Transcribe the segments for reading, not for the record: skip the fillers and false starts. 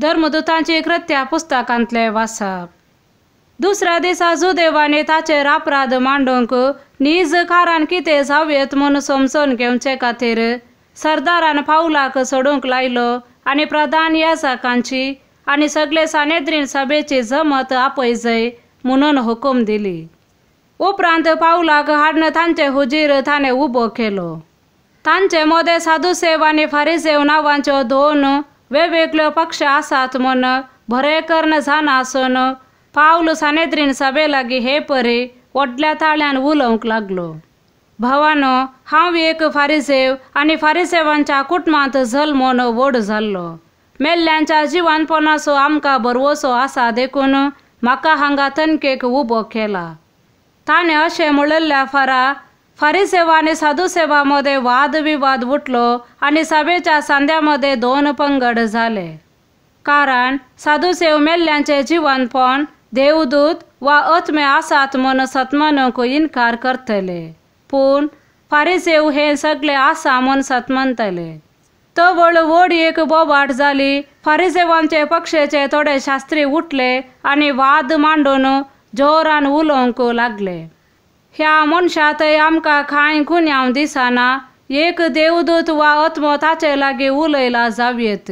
धर्मदूतांची कृत्या पुस्तकांतले वाचप. दुसऱ्या दिसा जुदेवांनी ताचेर अपराध मांडूंक नीज कारण कितें जावयेत म्हूण समजून घेवचे खातीर सरदारान पावलाक सोडूंक लायलो आनी प्रधान याजकांची आनी सगळे सानेद्रीन सभेची जमत आपयजय म्हणून हुकूम दिली. उपरांत पावलाक हाडून तांचे हुजीर ताणें उबो केलो. तांचे मदें सादुसेव आनी फारिसेव नांवांच्यो दोन वेगवेगळ्यो पक्ष आसात म्हूण बरें करून जाणा आसून पावल सानेद्रीन सभे लागीं हे परी व्हडल्या ताळ्यान उलोवंक लागलो. भावानो, हांव एक फारिसेव आनी फारिसेवांच्या कुटुंबांत जल्मून व्हड जाल्लो. मेल्ल्यांच्या जिवानपणाचो आमकां भरवसो आसा देखून म्हाका हांगा तनकेक उबो केला. ताणें अशें म्हणिल्ल्या फारा फारिसेवा आनी सादुसेवा मदें वाद विवाद उठलो आनी सभेच्या सांद्या मदें दोन पंगड जाले. कारण सादुसेव मेल्ल्यांचें जिवनपण देवदूत वा आत्मे आसात म्हूण सतमानूंक इनकार करतले, पूण फारिसेव हें सगळें आसा म्हूण सतमानतले. तवळ व्हड एक बोबाट जाली. फारिसेवांचे पक्षेचे थोडे शास्त्री उठले आनी वाद मांडून जोरान उलोवंक लागले. ह्या मनशा थंय आमकां कांय गुन्यांव दिसना, एक देवदूत वा आत्मो ताचे लागीं उलयला जावयेत.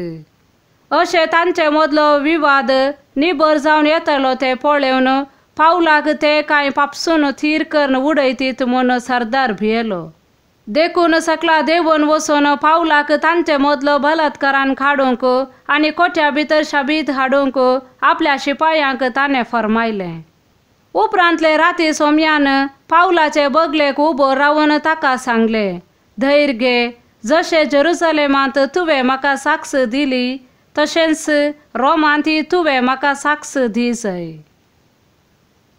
अशें तांचे मदलो विवाद निबर जावन येतलो तें पळोवन पावलाक ते कांय पापसून थीर करून उडयतीत म्हूण सरदार भियेलो. देखून सकला देंवून वचून पावलाक तांचे मदलो बलात्कारान काडूंक आनी कोठ्या भितर शाबीत हाडूंक आपल्या शिपायांक ताणें फर्मायलें. उपरांतले राती सोम्यान पावलाचे बगलेक उबो रावन ताका सांगलें, धैर्य घे, जशें जेरुसलेमांत तुवें म्हाका साक्ष दिली तशेंच रोमांतय तुवें म्हाका साक्ष दी जाय.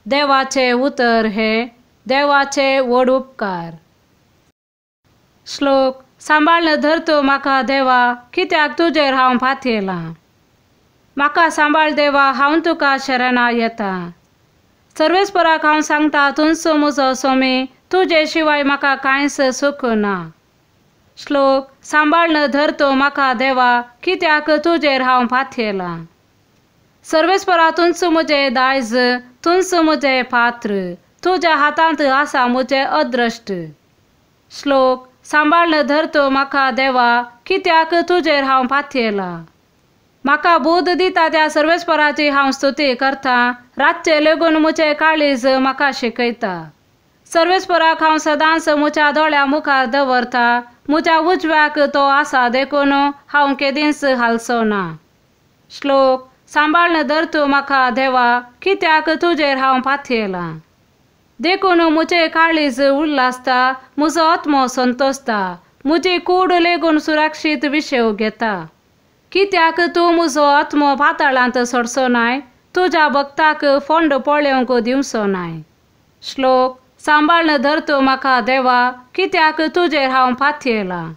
देवाचें उतर हें देवाचे व्हड उपकार. श्लोक. सांबाळन धर तूं म्हाका देवा, कित्याक तुजेर हांव पातयेलां. म्हाका सांबाळ देवा, हांव तुका शरणा येता. सर्वेस्पराक हांव सांगता, तूंच म्हजो स्वामी, तुजे शिवाय म्हाका कांयच सुख ना. श्लोक. सांबाळन धर तूं म्हाका देवा, कित्याक तुजेर हांव पातयेलां. सर्वेस्परा तूंच म्हजें दायज, तूंच म्हजें पात्र, तुज्या हातांत आसा म्हजें अद्रश्ट. श्लोक. सांबाळन धर तूं म्हाका देवा, कित्याक तुजेर हांव पातयेलां. म्हाका बूद दिता त्या सर्वेस्पराची हांव स्तुती करता, रातचें लेगून म्हजें काळीज म्हाका शिकयता. सर्वेस्पराक हांव सदांच म्हज्या दोळ्या मुखार दवरता, म्हज्या उजव्याक तो आसा देखून हांव केदींच हालचो ना. श्लोक. सांबाळन धर तूं म्हाका देवा, कित्याक तुजेर हांव पातयेलां. देखून म्हजें काळीज उल्हासता, म्हजो आत्मो संतोसता, म्हजी कूड लेगून सुरक्षीत विशेव घेता. कित्याक तूं म्हजो आत्मो पाताळांत सोडचो नाय, तुज्या भक्ताक फोंड पळोवंक दिवचो नाय. श्लोक. सांबाळन धर तूं म्हाका देवा, कित्याक तुजेर हांव पातयेलां.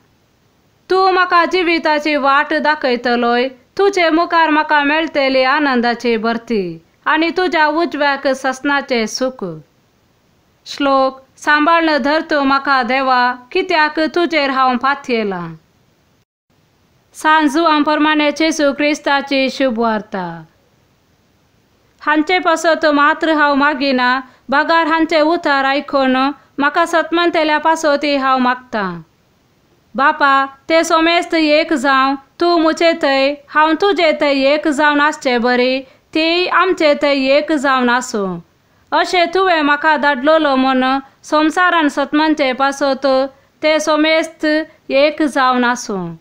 तूं म्हाका जिविताची वाट दाखयतलोय, तुजे मुखार म्हाका मेळटली आनंदाची भरती आनी तुज्या उजव्याक ससनाचें सुख. श्लोक. सांबाळन धर तूं म्हाका देवा, कित्याक तुजेर हांव पातयेलां. सांत जुआं प्रमाणे जेजू क्रिस्ताची शुभवार्ता. हांचे पासत मात्र हांव मागिना, बगार हांचे उतार आयकून म्हाका सतमंतेल्या पासोती हांव मागतां. बापा, ते सोमेस्त एक जावं, तूं म्हजे थंय हांव तुजे थंय एक जावन आसचे बरी तीय आमचे थंय एक जावन आसूं. अशें तुवें म्हाका धाडलेलो म्हूण संवसारान सतमनचे पासत ते सोमेस्त एक जावन आसूं.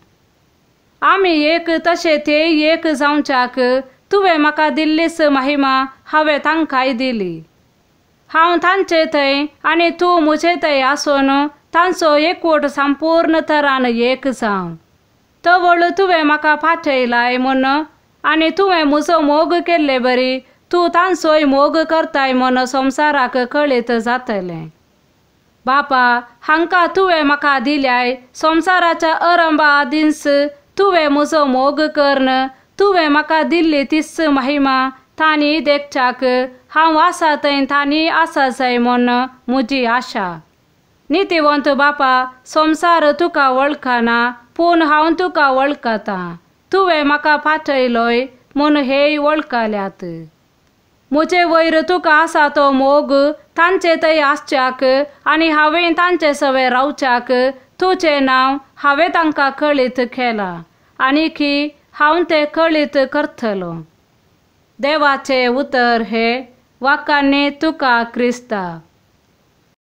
आमी एक तशें तेय एक जावच्याक तुवें म्हाका दिल्लीच महिमा हांवें तांकांय दिली. हांव तांचे थंय आनी तूं म्हजे थंय आसून तांचो एकवट संपूर्ण तरान एक जावं. तवळ तुवें म्हाका पाठयलाय म्हूण आनी तुवें म्हजो मोग केल्ले बरी तूं तांचोय मोग करताय म्हूण संवसाराक कळीत जातलें. बापा, हांकां तुवें म्हाका दिल्याय संवसाराच्या अरंबा आदींच तुवें म्हजो मोग करून तुवें म्हाका दिल्ली तीच महिमा तांणी देखच्याक हांव आसा थंय तांणी आसा जाय म्हूण म्हजी आशा. नितीवंत बापा, संवसार तुका वळखना, पूण हांव तुका वळखतां. तुवें म्हाका पाठयलोय म्हूण हेय वळखल्यात. म्हजे वयर तुका आसा तो मोग तांचे थंय आसच्याक आनी हांवें तांचे सवे रावच्याक तुजें नांव हांवें तांकां कळीत केलां आनी की हांव तें कळीत करतलो. देवाचें उतर हें वाकांनी तुका क्रिस्ता.